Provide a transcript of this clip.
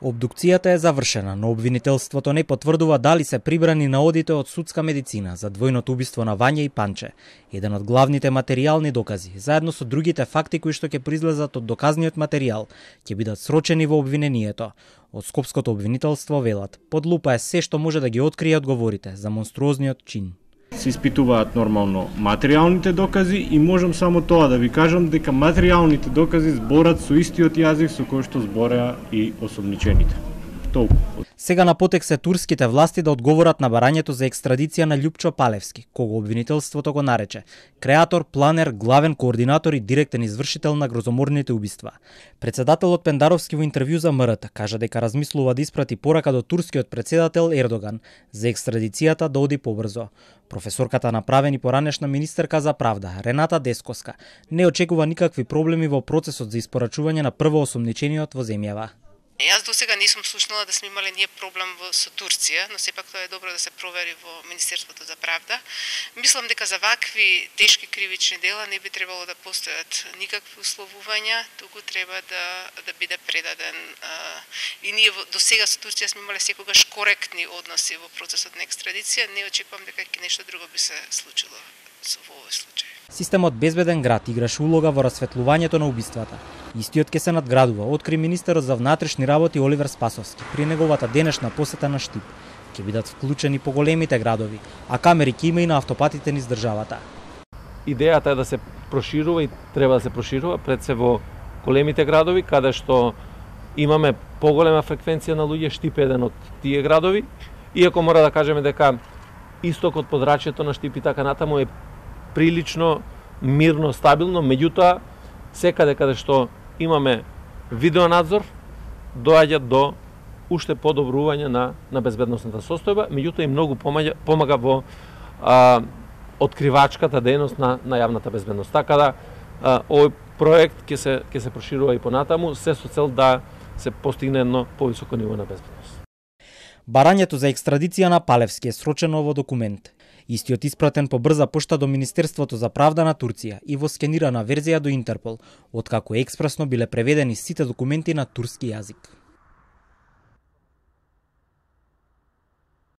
Обдукцијата е завршена, но обвинителството не потврдува дали се прибрани наодите од судска медицина за двојното убиство на Вања и Панче, еден од главните материјални докази, заедно со другите факти кои што ќе произлезат од доказниот материјал, ќе бидат срочени во обвинението. Од Скопското обвинителство велат: под лупа е се што може да ги открие одговорите за монструозниот чин. Се испитуваат нормално материјалните докази и можам само тоа да ви кажам дека материјалните докази зборат со истиот јазик со кој што збореа и осомничените. Толку. Сега на потек се турските власти да одговорат на барањето за екстрадиција на Љупчо Палевски, кого обвинителството го нарече креатор, планер, главен координатор и директен извршител на грозоморните убиства. Председателот Пендаровски во интервју за МРТ кажа дека размислува да испрати порака до турскиот председател Ердоган за екстрадицијата да оди побрзо. Професорката направени поранешна министерка за правда, Рената Дескоска, не очекува никакви проблеми во процесот за испорачување на прво осомничениот во земјава. Јас до сега не сум слушнала да сме имале ние проблем со Турција, но сепак тоа е добро да се провери во Министерството за правда. Мислам дека за вакви тешки кривични дела не би требало да постојат никакви условувања, туку треба да биде предаден. И ние до сега со Турција сме имале секогаш коректни односи во процесот на екстрадиција, не очекувам дека нешто друго би се случило во овој случај. Системот Безбеден град играше улога во расветлувањето на убиствата. Истиот ќе се надградува, откри министерот за внатрешни работи Оливер Спасовски при неговата денешна посета на Штип. Ќе бидат вклучени по големите градови, а камери ќе има и на автопатите низ државата. Идејата е да се проширува и треба да се проширува пред се во големите градови, каде што имаме поголема фреквенција на луѓе. Штип е еден од тие градови, иако мора да кажеме дека истокот, подрачјето на Штип и така натаму е прилично мирно, стабилно, меѓутоа секаде каде што имаме видеонадзор доаѓа до уште подобрување на безбедносната состојба, меѓутоа и многу помага во откривачката дејност на јавната безбедност. Така да овој проект ќе се проширува и понатаму, се со цел да се постигне едно повисоко ниво на безбедност. Барањето за екстрадиција на Палевски е срочено во документ. Истиот испратен по брза пошта до Министерството за правда на Турција и во скенирана верзија до Интерпол, откако експресно биле преведени сите документи на турски јазик.